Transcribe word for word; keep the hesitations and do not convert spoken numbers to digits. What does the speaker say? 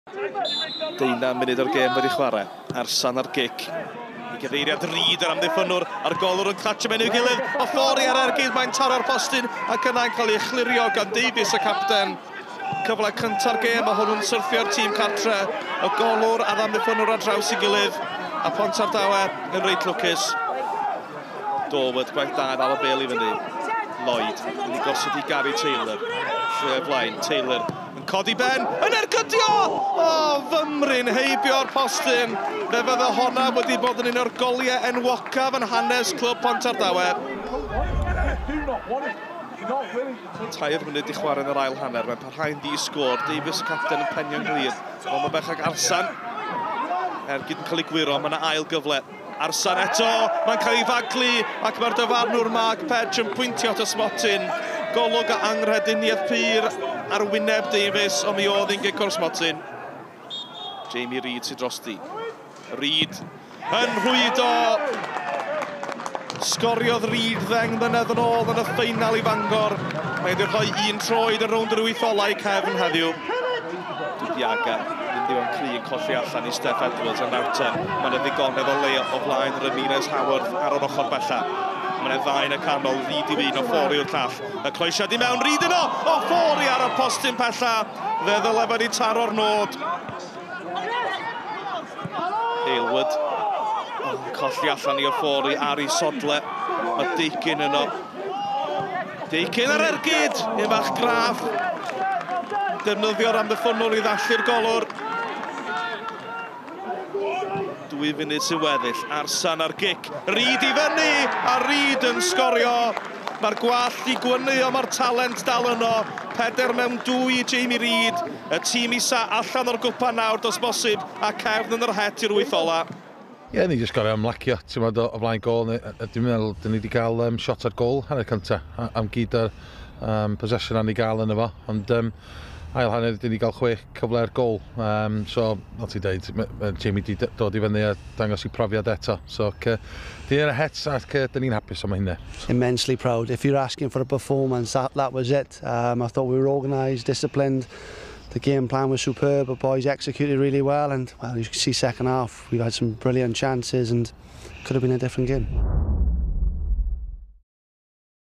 Deunaw munud o'r gêm wedi chwarae. Arsan ar gic. I gyfeiriad Reid yr amddiffynnwr a'r golwr yn clatsio mewn i'w gilydd. Ofori ar ergyd, mae'n taro'r postyn ac yna'n cael ei chlirio gan Davies y capten. Cyfle cynta'r gêm a hwnnw'n syrthio'r tîm cartre. Y golwr a'r amddiffynnwr ar draws ei gilydd. A Pontardawe yn reit lwcus. Dorwood, gwaith da, ddal y bêl i fyny. Lloyd yn ei gosod i Gary Taylor. Lle flaen, Taylor yn codi ben, yn ergydio! O, fymryn heibio'r postyn. Fe fydde honna wedi bod yn un o'r goliau enwocaf yn hanes clwb Pontardawe. Tair munud i chwarae yn yr ail hanner, mae'n parhau'n ddi-sgôr. Davies y capten yn penio'n glir. Ond mae bellach Arsan. Ergyd yn cael ei gwiro, mae yna ail gyfle. Arsan eto, mae'n cael ei faglu ac mae'r dyfarnwr Mark Pedge yn pwyntio at y smotyn. Golwg a anghrediniaeth pur ar wyneb Davies, ond mi oedd hi'n gic o'r smotyn. Jamie Reid sydd drosti. Reid yn rhwydo. Sgoriodd Reid ddeng mlynedd yn ôl yn y ffeinal i Fangor. Mae wedi rhoi un troed yn rownd yr wyth ola i Cefn heddiw. Dubiaga, ddim digon cry yn colli allan i Steph Edwards yn nawr te. Mae yna ddigonedd o le o flaen Ramirez Howard ar yr ochr bella. Mae yna ddau yn y canol, Reid i un, Ofori o'r llall. Y croesiad i mewn, Reid yno! Ofori ar y postyn pella. Fe ddyle wedi taro'r nod. Aylward colli allan i Ofori ar ei sodle. Mae Deakin yno. Deakin ar ergyd! Un bach graff. Defnyddio'r amddiffynnwr i ddallu'r golwr. Dwy funud sy'n weddill. Arsan ar gic. Reid i fyny! A Reid yn sgorio. Mae'r gwallt i gwynu, ond mae'r talent dal yno. Peder mewn dwy i Jamie Reid. Y tîm isa allan o'r gwpan nawr, dos bosib, a Cefn yn yr het i'r wyth ola. Ie, yeah, ni jyst gorau ymlacio, ti'n meddwl, o flaen gôl. Dwi'n meddwl, dyn ni wedi cael um, shot ar gôl hanner cynta, am gyd o'r um, possession ni gael yno fo. Ond um, ail hanner, dyn ni gael chwech cyfle ar gôl. Um, so, fel ti'n deud, Jamie wedi dod i fyny a dangos i profiad eto. So, dyn ni yn y het ac dyn ni'n hapus am hynny. Immensely proud. If you're asking for a performance, that, that was it. Um, I thought we were organised, disciplined. The game plan was superb, the boys executed really well, and well, you can see second half, we've had some brilliant chances and could have been a different game.